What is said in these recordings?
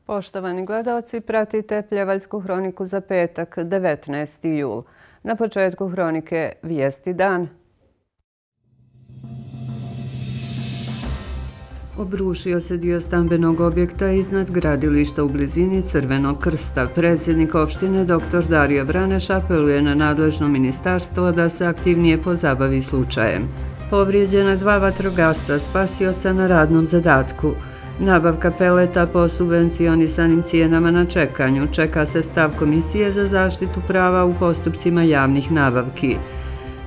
Poštovani gledaoci, pratite Pljevaljsku hroniku za petak, 19. jul. Na početku hronike vijesti dan. Obrušio se dio stambenog objekta iznad gradilišta u blizini Crvenog krsta. Predsjednik opštine dr. Dario Vraneš apeluje na nadležno ministarstvo da se aktivnije pozabavi slučajem. Povrijeđena 2 vatrogasca spasioca na radnom zadatku. Nabavka peleta po subvencionisanim cijenama na čekanju. Čeka se stav Komisije za zaštitu prava u postupcima javnih nabavki.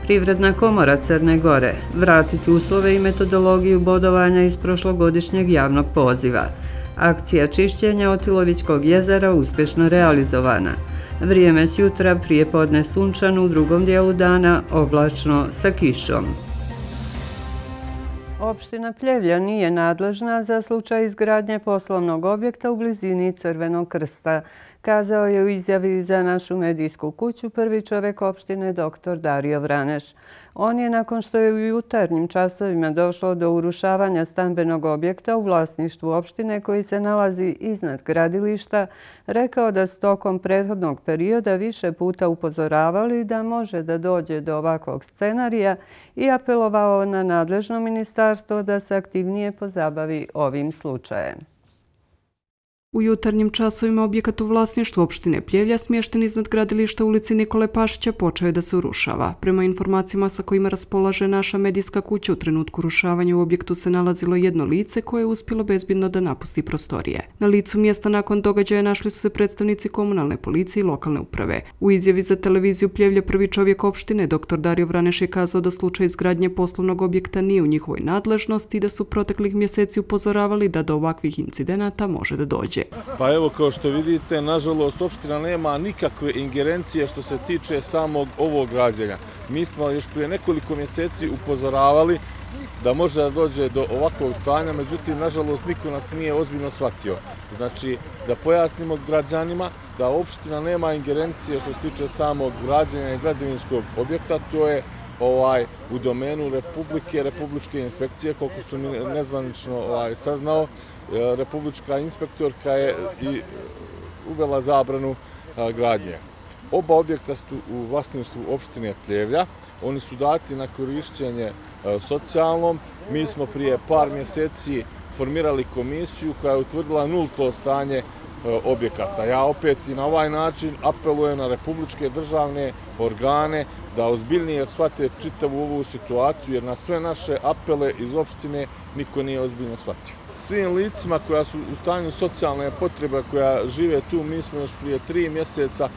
Privredna komora Crne Gore. Vratiti uslove i metodologiju bodovanja iz prošlogodišnjeg javnog poziva. Akcija čišćenja Otilovićkog jezera uspješno realizovana. Vrijeme s jutra prije podne sunčano, u drugom dijelu dana oblačno sa kišom. Opština Pljevlja nije nadležna za slučaj izgradnje poslovnog objekta u blizini Crvenog krsta, kazao je u izjavi za našu medijsku kuću prvi čovjek opštine dr. Dario Vraneš. On je, nakon što je u jutarnjim časovima došlo do urušavanja stambenog objekta u vlasništvu opštine koji se nalazi iznad gradilišta, rekao da su tokom prethodnog perioda više puta upozoravali da može da dođe do ovakvog scenarija i apelovao na nadležno ministarstvo da se aktivnije pozabavi ovim slučajem. U jutarnjim časovima objekat u vlasništvu opštine Pljevlja smješten iznad gradilišta ulici Nikole Pašića počeo je da se urušava. Prema informacijama sa kojima raspolaže naša medijska kuća, u trenutku rušavanja u objektu se nalazilo jedno lice koje je uspjelo bezbjedno da napusti prostorije. Na licu mjesta nakon događaja našli su se predstavnici komunalne policije i lokalne uprave. U izjavi za televiziju Pljevlja prvi čovjek opštine dr. Dario Vraneš je kazao da slučaj izgradnje poslovnog objekta nije u njihovoj nadležnosti i da su proteklih mjeseci upozoravali da do ovakvih incidenata može da dođe. Pa evo, kao što vidite, nažalost, opština nema nikakve ingerencije što se tiče samog ovog građenja. Mi smo još prije nekoliko mjeseci upozoravali da može da dođe do ovakvog stanja, međutim, nažalost, niko nas nije ozbiljno shvatio. Znači, da pojasnimo građanima da opština nema ingerencije što se tiče samog građenja i građevinskog objekta, to je u domenu Republičke inspekcije, koliko su mi nezvanično saznao. Republička inspektorka je i uvela zabranu gradnje. Oba objekta su u vlasništvu opštine Pljevlja. Oni su dati na korišćenje socijalnom. Mi smo prije par mjeseci formirali komisiju koja je utvrdila nulto stanje objekata. Ja opet i na ovaj način apelujem na republičke državne organe da ozbiljnije shvate čitavu ovu situaciju, jer na sve naše apele iz opštine niko nije ozbiljno shvatio. Svim licima koja su u stanju socijalne potrebe, koja žive tu, mi smo još prije 3 mjeseca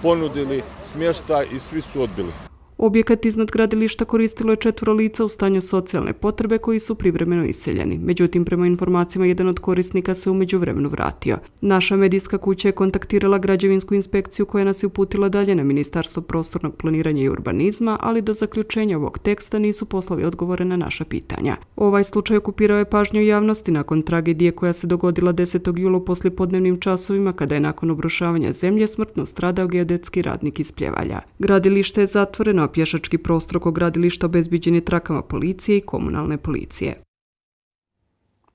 ponudili smještaj i svi su odbili. Objekat iznad gradilišta koristilo je 4 lica u stanju socijalne potrebe koji su privremeno iseljeni. Međutim, prema informacijama, jedan od korisnika se u međuvremenu vratio. Naša medijska kuća je kontaktirala građevinsku inspekciju koja nas je uputila dalje na Ministarstvo prostornog planiranja i urbanizma, ali do zaključenja ovog teksta nisu poslali odgovore na naša pitanja. Ovaj slučaj okupirao je pažnju javnosti nakon tragedije koja se dogodila 10. jula u poslijepodnevnim časovima, kada je nakon obrušavanja zemlje smrtno stradao geodetski radnik iz Pljevalja. Gradilište je zatvoreno, pješački prostor oko gradilišta obezbiđen je trakama policije i komunalne policije.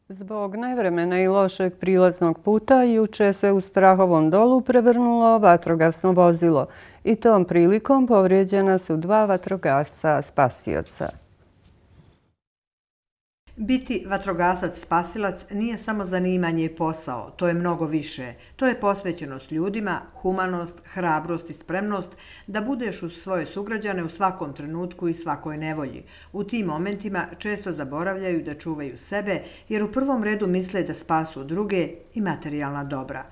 Zbog nevremena i lošeg prilaznog puta, juče se u Strahovom Dolu prevrnulo vatrogasno vozilo i tom prilikom povrijeđena su 2 vatrogasca spasioca. Biti vatrogasac spasilac nije samo zanimanje i posao, to je mnogo više. To je posvećenost ljudima, humanost, hrabrost i spremnost da budeš uz svoje sugrađane u svakom trenutku i svakoj nevolji. U tim momentima često zaboravljaju da čuvaju sebe jer u prvom redu misle da spasu druge i materijalna dobra.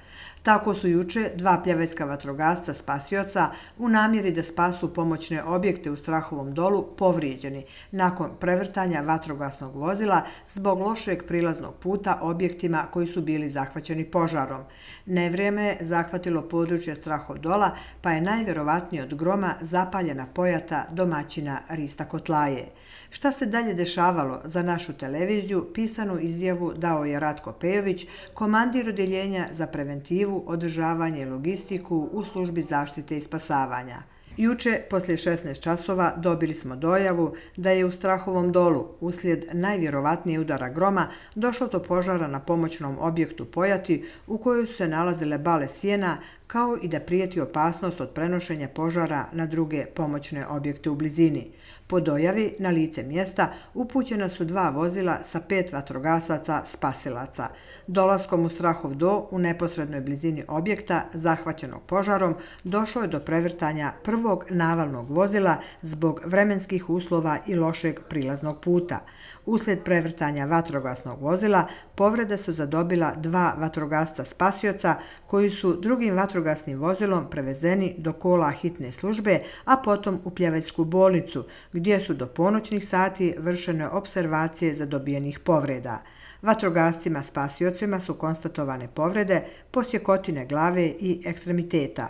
Tako su juče 2 pljevajska vatrogasca spasioca u namjeri da spasu pomoćne objekte u Strahovom Dolu povrijeđeni nakon prevrtanja vatrogasnog vozila zbog lošeg prilaznog puta objektima koji su bili zahvaćeni požarom. Nevrijeme je zahvatilo područje Strahov Dola, pa je najvjerovatnije od groma zapaljena pojata domaćina Rista Kotlaje. Šta se dalje dešavalo, za našu televiziju pisanu izjavu dao je Ratko Pejović, komandir odjeljenja za preventivu, održavanje i logistiku u službi zaštite i spasavanja. Juče, poslije 16 časova, dobili smo dojavu da je u Strahovom Dolu, uslijed najvjerovatnije udara groma, došlo do požara na pomoćnom objektu Pojati u kojoj su se nalazile bale sjena, kao i da prijeti opasnost od prenošenja požara na druge pomoćne objekte u blizini. Po dojavi, na lice mjesta upućena su 2 vozila sa 5 vatrogasaca spasilaca. Dolaskom u Strahov Do, u neposrednoj blizini objekta zahvaćenog požarom, došlo je do prevrtanja prvog navalnog vozila zbog vremenskih uslova i lošeg prilaznog puta. Uslijed prevrtanja vatrogasnog vozila, povrede su zadobila 2 vatrogasca spasioca koji su drugim vatrogasnim vozilom prevezeni do kola hitne službe, a potom u Pljevaljsku bolnicu, gdje su do ponoćnih sati vršene opservacije zadobijenih povreda. Vatrogascima spasiocima su konstatovane povrede, posjekotine glave i ekstremiteta.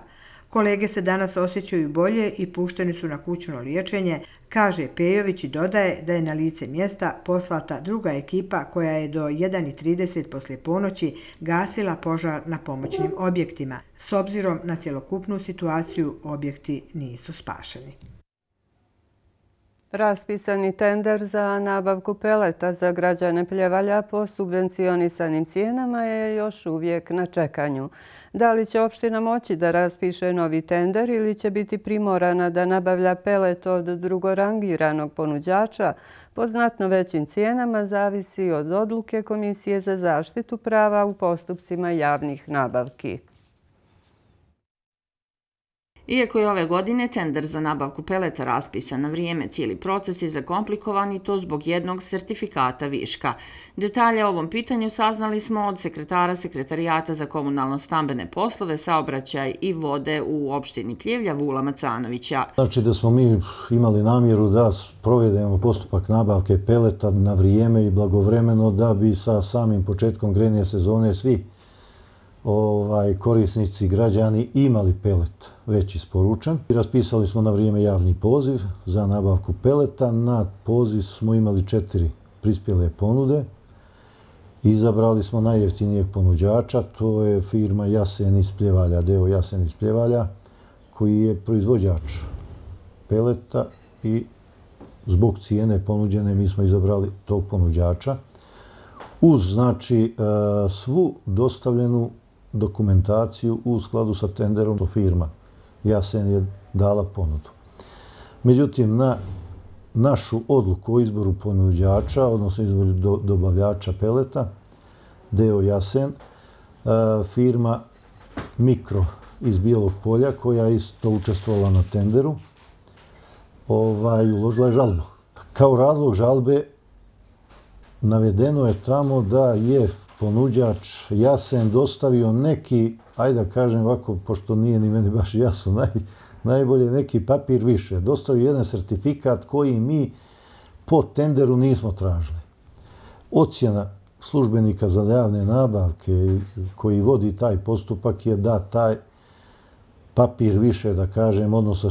Kolege se danas osjećaju bolje i pušteni su na kućno liječenje, kaže Pejović i dodaje da je na lice mjesta poslata druga ekipa koja je do 1:30 poslije ponoći gasila požar na pomoćnim objektima. S obzirom na cjelokupnu situaciju, objekti nisu spašeni. Raspisani tender za nabavku peleta za građane Pljevalja po subvencionisanim cijenama je još uvijek na čekanju. Da li će opština moći da raspiše novi tender ili će biti primorana da nabavlja pelet od drugorangiranog ponuđača po znatno većim cijenama, zavisi od odluke Komisije za zaštitu prava u postupcima javnih nabavki. Iako je ove godine tender za nabavku peleta raspisan na vrijeme, cijeli proces je zakomplikovan i to zbog jednog sertifikata viška. Detalje o ovom pitanju saznali smo od sekretara Sekretarijata za komunalno-stambene poslove, saobraćaj i vode u opštini Pljevlja, Vula Macanovića. Znači da smo mi imali namjeru da provedemo postupak nabavke peleta na vrijeme i blagovremeno da bi sa samim početkom grejne sezone svi korisnici, građani imali pelet već isporučen. Raspisali smo na vrijeme javni poziv za nabavku peleta. Na poziv smo imali 4 prispjele ponude. Izabrali smo najjeftinijeg ponuđača, to je firma Jasen iz Pljevalja, deo Jasen iz Pljevalja, koji je proizvođač peleta i zbog cijene ponuđene mi smo izabrali tog ponuđača. Uz, znači, svu dostavljenu dokumentaciju u skladu sa tenderom, to firma Jasen je dala ponudu. Međutim, na našu odluku o izboru ponuđača, odnosno izboru dobavljača peleta, deo Jasen, firma Mikro iz Bijelog Polja, koja je isto učestvovala na tenderu, uložila je žalbu. Kao razlog žalbe navedeno je tamo da je ponuđač Jasen dostavio neki, ajde da kažem ovako, pošto nije ni meni baš jasno, najbolje neki papir više. Dostavio jedan sertifikat koji mi po tenderu nismo tražili. Ocjena službenika za javne nabavke koji vodi taj postupak je da taj papir više, da kažem, odnosno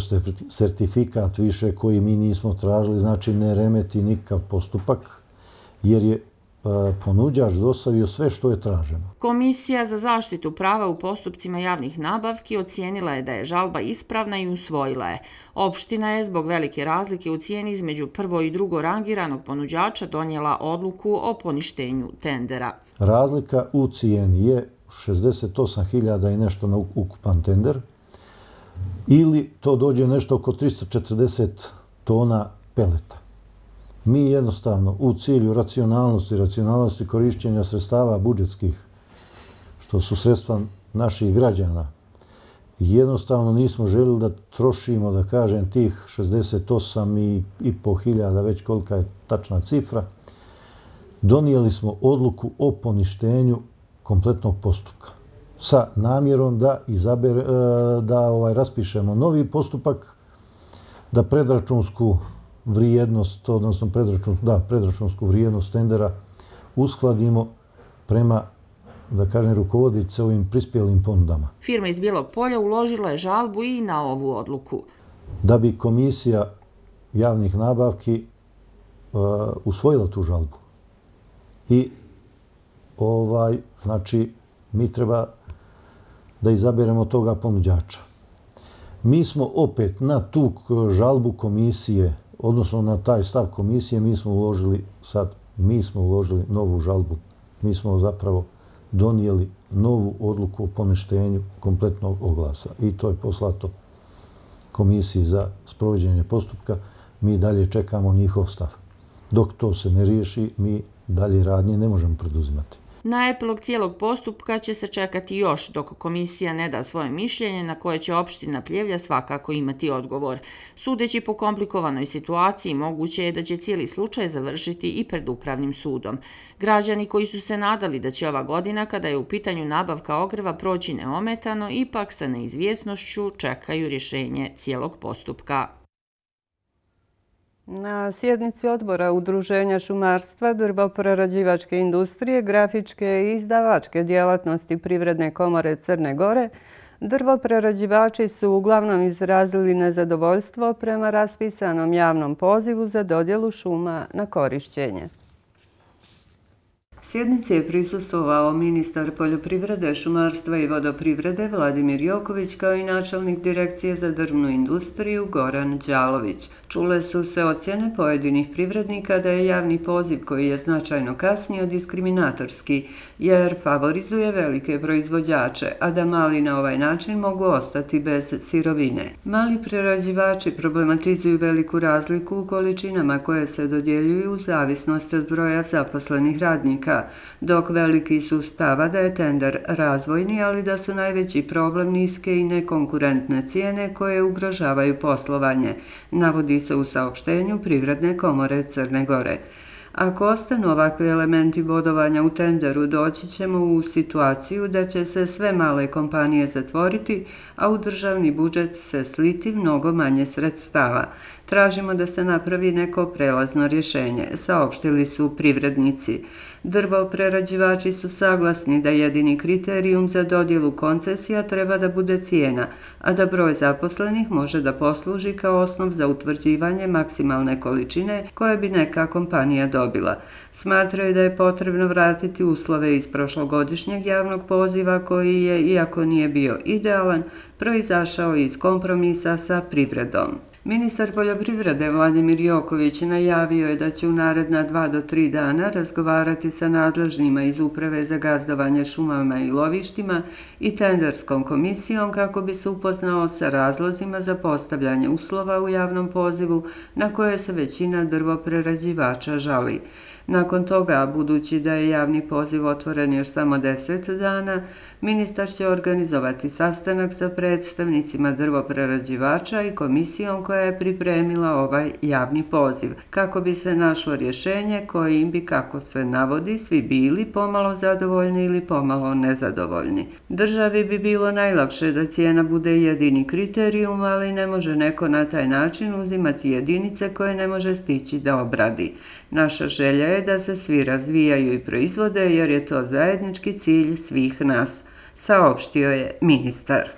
sertifikat više koji mi nismo tražili, znači ne remeti nikakav postupak, jer je ponuđač dostavio sve što je traženo. Komisija za zaštitu prava u postupcima javnih nabavki ocijenila je da je žalba ispravna i usvojila je. Opština je zbog velike razlike u cijeni između prvo i drugo rangiranog ponuđača donijela odluku o poništenju tendera. Razlika u cijeni je 68.000 i nešto na ukupan tender, ili to dođe nešto oko 340 tona peleta. Mi jednostavno u cilju racionalnosti korišćenja sredstava budžetskih, što su sredstva naših građana, jednostavno nismo željeli da trošimo, da kažem, tih 68.500, već kolika je tačna cifra. Donijeli smo odluku o poništenju kompletnog postupka sa namjerom da raspišemo novi postupak, da predračunsku vrijednost, odnosno predračunsku vrijednost tendera uskladimo prema, da kažem, rukovoditi se ovim prispjelim ponudama. Firma iz Bijelog Polja uložila je žalbu i na ovu odluku. Da bi Komisija javnih nabavki usvojila tu žalbu i znači mi treba da izaberemo toga ponuđača. Mi smo opet na tu žalbu komisije, odnosno na taj stav komisije, mi smo uložili novu žalbu. Mi smo zapravo donijeli novu odluku o poništenju kompletnog oglasa i to je poslato komisiji za sprovođenje postupka. Mi dalje čekamo njihov stav. Dok to se ne riješi, mi dalje radnje ne možemo preduzimati. Na epilog cijelog postupka će se čekati još dok komisija ne da svoje mišljenje na koje će opština Pljevlja svakako imati odgovor. Sudeći po komplikovanoj situaciji, moguće je da će cijeli slučaj završiti i pred upravnim sudom. Građani koji su se nadali da će ova godina, kada je u pitanju nabavka ogreva, proći neometano, ipak sa neizvjesnošću čekaju rješenje cijelog postupka. Na sjednici odbora Udruženja šumarstva, drvoprerađivačke industrije, grafičke i izdavačke djelatnosti Privredne komore Crne Gore, drvoprerađivači su uglavnom izrazili nezadovoljstvo prema raspisanom javnom pozivu za dodjelu šuma na korišćenje. Sjednici je prisustvovao ministar poljoprivrede, šumarstva i vodoprivrede Vladimir Joković kao i načelnik Direkcije za drvnu industriju Goran Đalović. Čule su se ocjene pojedinih privrednika da je javni poziv koji je značajno kasnio diskriminatorski jer favorizuje velike proizvođače, a da mali na ovaj način mogu ostati bez sirovine. Mali prerađivači problematizuju veliku razliku u količinama koje se dodjeljuju u zavisnosti od broja zaposlenih radnika, dok veliki su stava da je tender razvojni, ali da su najveći problem niske i nekonkurentne cijene koje ugrožavaju poslovanje, navodi se u saopštenju Privredne komore Crne Gore. Ako ostanu ovakvi elementi bodovanja u tenderu, doći ćemo u situaciju da će se sve male kompanije zatvoriti, a u državni budžet se sliti mnogo manje sredstava. Tražimo da se napravi neko prelazno rješenje, saopštili su privrednici. Drvoprerađivači su saglasni da jedini kriterijum za dodjelu koncesija treba da bude cijena, a da broj zaposlenih može da posluži kao osnov za utvrđivanje maksimalne količine koje bi neka kompanija dobila. Smatraju da je potrebno vratiti uslove iz prošlogodišnjeg javnog poziva koji je, iako nije bio idealan, proizašao iz kompromisa sa privredom. Ministar poljoprivrede Vladimir Joković najavio je da će u naredna 2 do 3 dana razgovarati sa nadležnima iz Uprave za gazdovanje šumama i lovištima i tenderskom komisijom kako bi se upoznao sa razlozima za postavljanje uslova u javnom pozivu na koje se većina drvoprerađivača žali. Nakon toga, budući da je javni poziv otvoren još samo 10 dana, ministar će organizovati sastanak sa predstavnicima drvoprerađivača i komisijom koja je pripremila ovaj javni poziv, kako bi se našlo rješenje kojim bi, kako se navodi, svi bili pomalo zadovoljni ili pomalo nezadovoljni. Državi bi bilo najlakše da cijena bude jedini kriterijum, ali ne može neko na taj način uzimati jedinice koje ne može stići da obradi. Naša želja je da se svi razvijaju i proizvode jer je to zajednički cilj svih nas, saopštio je ministar.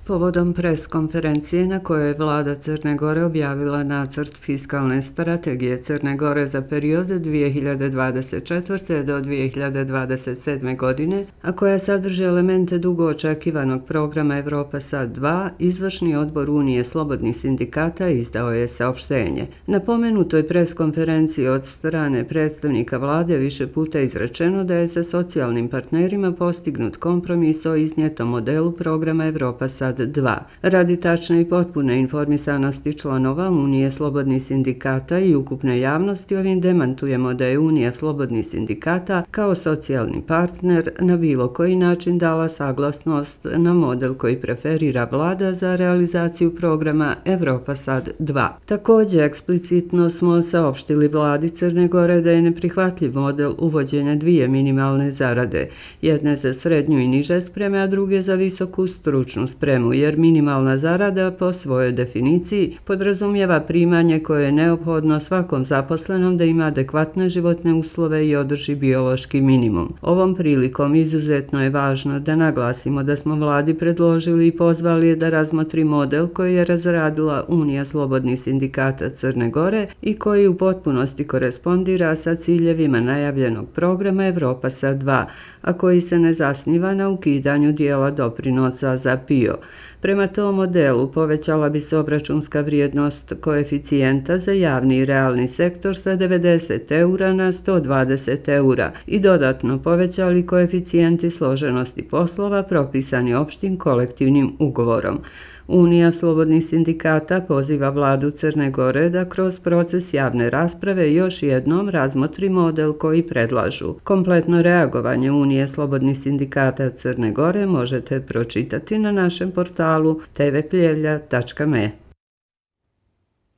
Povodom pres konferencije na kojoj je vlada Crne Gore objavila nacrt fiskalne strategije Crne Gore za period 2024. do 2027. godine, a koja sadrži elemente dugo očekivanog programa Evropa Sad 2, izvršni odbor Unije slobodnih sindikata izdao je saopštenje. Na pomenutoj pres konferenciji od strane predstavnika vlade više puta izrečeno da je sa socijalnim partnerima postignut kompromis o iznijetom modelu programa Evropa Sad 2. Radi tačne i potpune informisanosti članova Unije slobodnih sindikata i ukupne javnosti, ovim demantujemo da je Unija slobodnih sindikata kao socijalni partner na bilo koji način dala saglasnost na model koji preferira vlada za realizaciju programa Evropa Sad 2. Također, eksplicitno smo saopštili vladi Crne Gore da je neprihvatljiv model uvođenja 2 minimalne zarade, jedne za srednju i niže spreme, a druge za visoku stručnu spremu. čemu, jer minimalna zarada po svojoj definiciji podrazumijeva primanje koje je neophodno svakom zaposlenom da ima adekvatne životne uslove i održi biološki minimum. Ovom prilikom izuzetno je važno da naglasimo da smo vladi predložili i pozvali je da razmotri model koji je razradila Unija slobodnih sindikata Crne Gore i koji u potpunosti korespondira sa ciljevima najavljenog programa Evropa sa 2, a koji se ne zasniva na ukidanju dijela doprinosa za PIO. Prema tom modelu povećala bi se obračunska vrijednost koeficijenta za javni i realni sektor sa 90 eura na 120 eura i dodatno povećali koeficijenti složenosti poslova propisani opštim kolektivnim ugovorom. Unija slobodnih sindikata poziva vladu Crne Gore da kroz proces javne rasprave još jednom razmotri model koji predlažu. Kompletno reagovanje Unije slobodnih sindikata Crne Gore možete pročitati na našem portalu tvpljevlja.me.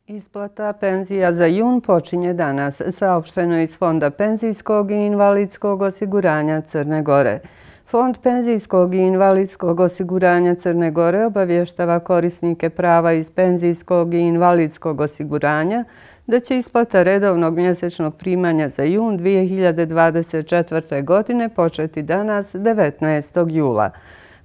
Isplata penzija za jun počinje danas, saopšteno iz Fonda penzijskog i invalidskog osiguranja Crne Gore. Fond penzijskog i invalidskog osiguranja Crne Gore obavještava korisnike prava iz penzijskog i invalidskog osiguranja da će isplata redovnog mjesečnog primanja za jun 2024. godine početi danas 19. jula.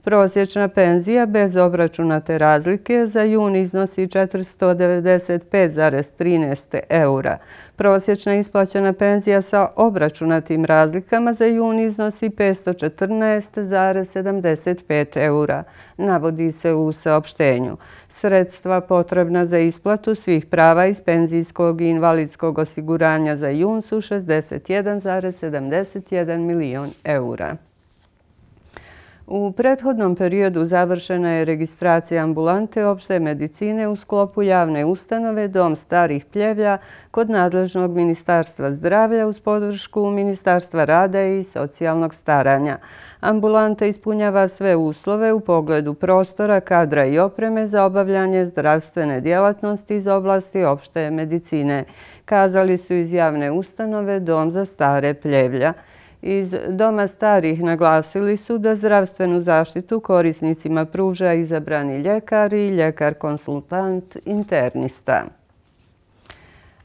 Prosječna penzija bez obračunate razlike za jun iznosi 495,13 eura. Prosječna isplaćena penzija sa obračunatim razlikama za jun iznosi 514,75 eura, navodi se u saopštenju. Sredstva potrebna za isplatu svih prava iz penzijskog i invalidskog osiguranja za jun su 61,71 milion eura. U prethodnom periodu završena je registracija ambulante opšte medicine u sklopu javne ustanove Dom starih Pljevlja kod nadležnog Ministarstva zdravlja uz podršku Ministarstva rada i socijalnog staranja. Ambulanta ispunjava sve uslove u pogledu prostora, kadra i opreme za obavljanje zdravstvene djelatnosti iz oblasti opšte medicine, kazali su iz javne ustanove Dom za stare Pljevlja. Iz Doma starih naglasili su da zdravstvenu zaštitu korisnicima pruža izabrani ljekar i ljekar-konsultant internista.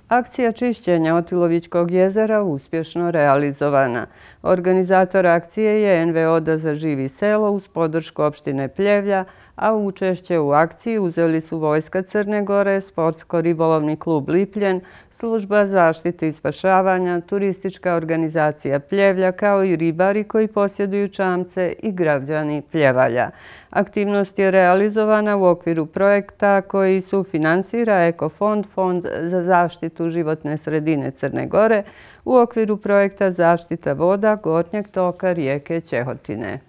Akcija čišćenja Otilovićkog jezera uspješno realizovana. Organizator akcije je NVO Da zaživi selo uz podršku opštine Pljevlja, a učešće u akciji uzeli su Vojska Crne Gore, Sportsko-ribolovni klub Lipljen, Služba zaštite i spašavanja, turistička organizacija Pljevlja kao i ribari koji posjeduju čamce i građani Pljevalja. Aktivnost je realizovana u okviru projekta koji sufinansira Ekofond, Fond za zaštitu životne sredine Crne Gore u okviru projekta zaštita voda gornjeg toka rijeke Ćehotine.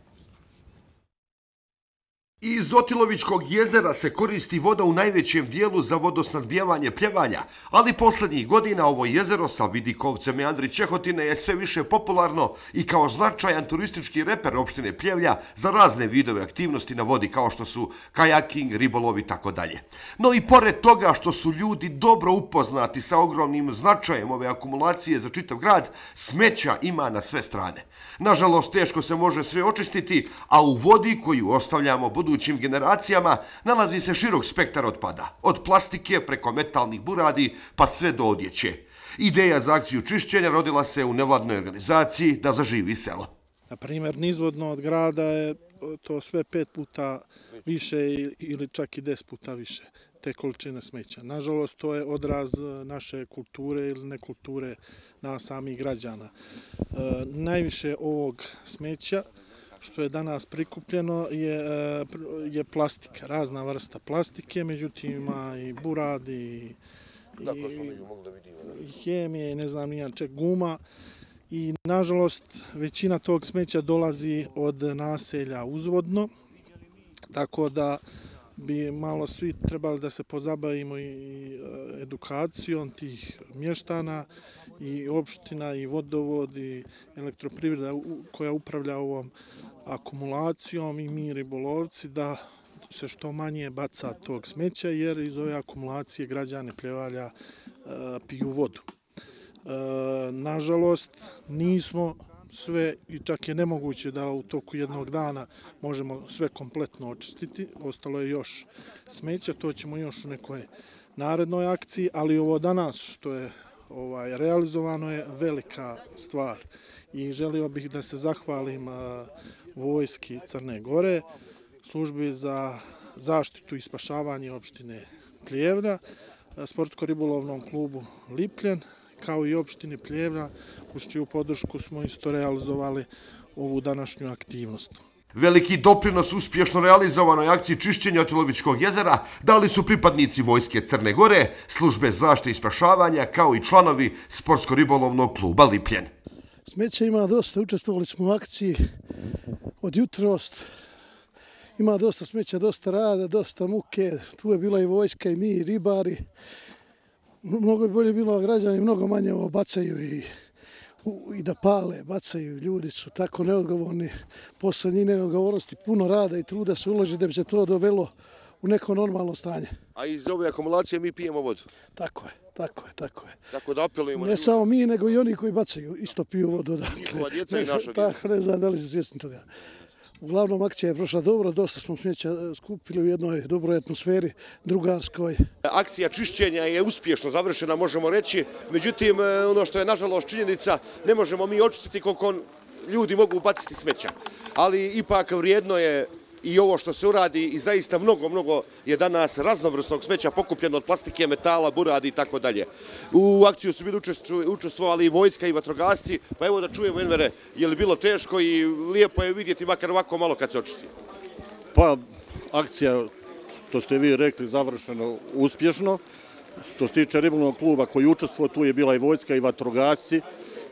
Iz Otilovićkog jezera se koristi voda u najvećem dijelu za vodosnabdijevanje Pljevalja, ali posljednjih godina ovo jezero sa vidikovcem meandri Ćehotine je sve više popularno i kao značajan turistički reper opštine Pljevlja za razne vidove aktivnosti na vodi kao što su kajaking, ribolov i tako dalje. No i pored toga što su ljudi dobro upoznati sa ogromnim značajem ove akumulacije za čitav grad, smeća ima na sve strane. Nažalost, teško se može sve očistiti, a u vodi koju ostavljamo budućim generacijama nalazi se širok spektar otpada, od plastike preko metalnih buradi pa sve do odjeće. Ideja za akciju čišćenja rodila se u nevladnoj organizaciji Da zaživi selo. Na primjer, nizvodno od grada je to sve 5 puta više ili čak i 10 puta više te količine smeća. Nažalost, to je odraz naše kulture ili nekulture nas samih građana. Najviše ovog smeća što je danas prikupljeno je plastika, razna vrsta plastike, međutim ima i burad i hemije i ne znam nijan ček, guma. I nažalost većina tog smeća dolazi od naselja uzvodno, tako da bi malo svi trebali da se pozabavimo i edukacijom tih mještana i opština i vodovod i elektroprivreda koja upravlja ovom akumulacijom i mi ribolovci da se što manje baca tog smeća jer iz ove akumulacije građani Pljevalja piju vodu. Nažalost, nismo sve i čak je nemoguće da u toku jednog dana možemo sve kompletno očistiti. Ostalo je još smeća, to ćemo još u nekoj narednoj akciji, ali ovo danas što je realizovano je velika stvar i želio bih da se zahvalim vojski Crne Gore, službi za zaštitu i spašavanje opštine Pljevlja, sportsko-ribolovnom klubu Lipljen, kao i opštine Pljevlja, uz čiju podršku smo isto realizovali ovu današnju aktivnost. Veliki doprinos uspješno realizovanoj akciji čišćenja Otilovićkog jezera dali su pripadnici Vojske Crne Gore, službe zaštite i spašavanja, kao i članovi sportsko-ribolovnog kluba Lipljen. Smeća ima dosta, učestvovali smo u akciji od jutros. Ima dosta smeća, dosta rada, dosta muke. Tu je bila i vojska i mi, i ribari. Mnogo je bolje bilo, građani mnogo manje ovo bacaju i da pale, bacaju. Ljudi su tako neodgovorni. Posle njih neodgovornosti puno rada i truda se uloži da bi se to dovelo u neko normalno stanje. A iz ove akumulacije mi pijemo vodu? Tako je. Tako da apelujemo. Ne samo mi, nego i oni koji bacaju isto piju vodu. Njihova djeca i naša djeca. Tako, ne znam da li su svjesni toga. Uglavnom, akcija je prošla dobro, dosta smo smeća skupili u jednoj dobroj atmosferi, drugarskoj. Akcija čišćenja je uspješno završena, možemo reći. Međutim, ono što je nažalost činjenica, ne možemo mi očistiti koliko ljudi mogu baciti smeća. Ali ipak vrijedno je i ovo što se uradi i zaista mnogo je danas raznovrsnog smeća pokupljeno od plastike, metala, buradi i tako dalje. U akciju su bili učestvovali i vojska i vatrogasci, pa evo da čujemo, Envere, je li bilo teško i lijepo je vidjeti makar ovako malo kad se očisti? Pa, akcija, što ste vi rekli, završeno uspješno. Što se tiče ribolovnog kluba koji učestvovao, tu je bila i vojska i vatrogasci.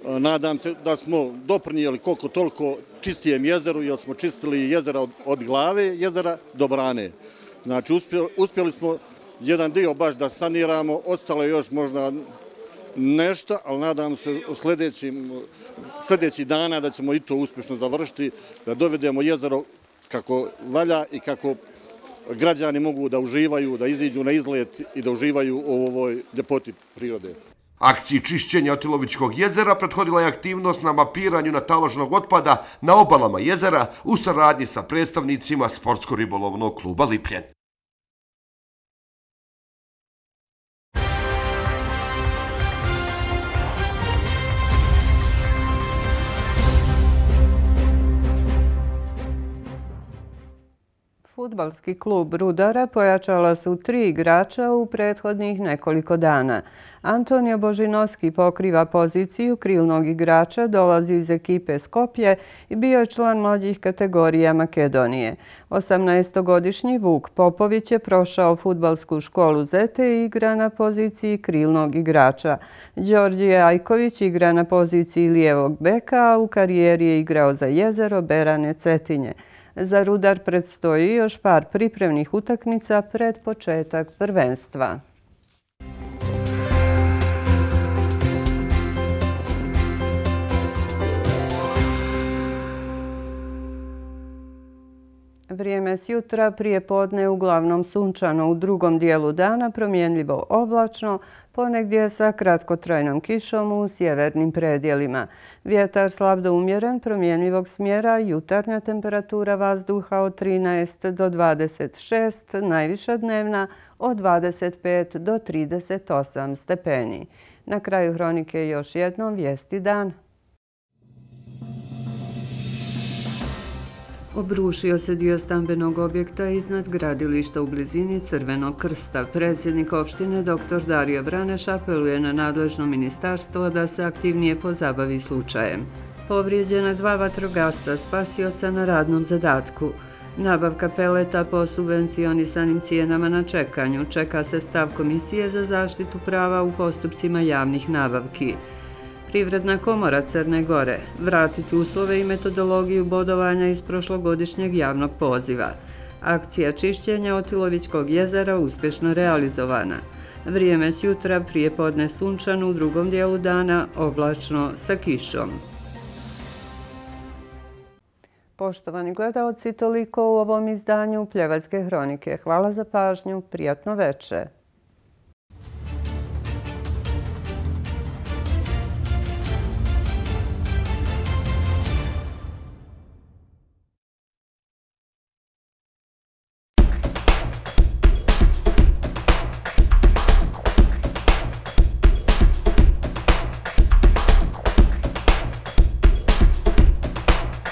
Nadam se da smo doprinijeli koliko toliko čistijem jezeru, jer smo čistili jezera od glave jezera do brane. Znači, uspjeli smo jedan dio baš da saniramo, ostalo je još možda nešto, ali nadam se u sljedećih dana da ćemo i to uspješno završiti, da dovedemo jezero kako valja i kako građani mogu da uživaju, da iziđu na izlet i da uživaju u ovoj ljepoti prirode. Akciji čišćenja Otilovićkog jezera prethodila je aktivnost na mapiranju nataloženog otpada na obalama jezera u saradnji sa predstavnicima sportsko-ribolovnog kluba Lipljen. Fudbalski klub Rudara pojačala su 3 igrača u prethodnih nekoliko dana. Antonio Božinovski pokriva poziciju krilnog igrača, dolazi iz ekipe Skopje i bio je član mlađih kategorija Makedonije. 18-godišnji Vuk Popović je prošao fudbalsku školu Zete i igra na poziciji krilnog igrača. Đorđije Ajković igra na poziciji lijevog beka, a u karijeri je igrao za Jezero, Berane, Cetinje. Za Rudar predstoji još par pripremnih utakmica pred početak prvenstva. Vrijeme s jutra prije podne uglavnom sunčano, u drugom dijelu dana promjenljivo oblačno, ponegdje sa kratkotrajnom kišom u sjevernim predjelima. Vjetar slab do umjeren, promjenljivog smjera, jutarnja temperatura vazduha od 13 do 26, najviša dnevna od 25 do 38 stepeni. Na kraju hronike još jednom vijesti dan. Obrušio se dio stambenog objekta iznad gradilišta u blizini Crvenog krsta. Predsjednik opštine dr. Dario Vraneš apeluje na nadležno ministarstvo da se aktivnije pozabavi slučajem. Povrijeđena 2 vatrogasca spasioca na radnom zadatku. Nabavka peleta po subvencionisanim cijenama na čekanju. Čeka se stav Komisije za zaštitu prava u postupcima javnih nabavki. Privredna komora Crne Gore vratiti uslove i metodologiju bodovanja iz prošlogodišnjeg javnog poziva. Akcija čišćenja Otilovićkog jezera uspješno realizovana. Vrijeme s jutra prije podne sunčano, u drugom dijelu dana oblačno sa kišom. Poštovani gledaoci, toliko u ovom izdanju Pljevačke hronike. Hvala za pažnju, prijatno veče.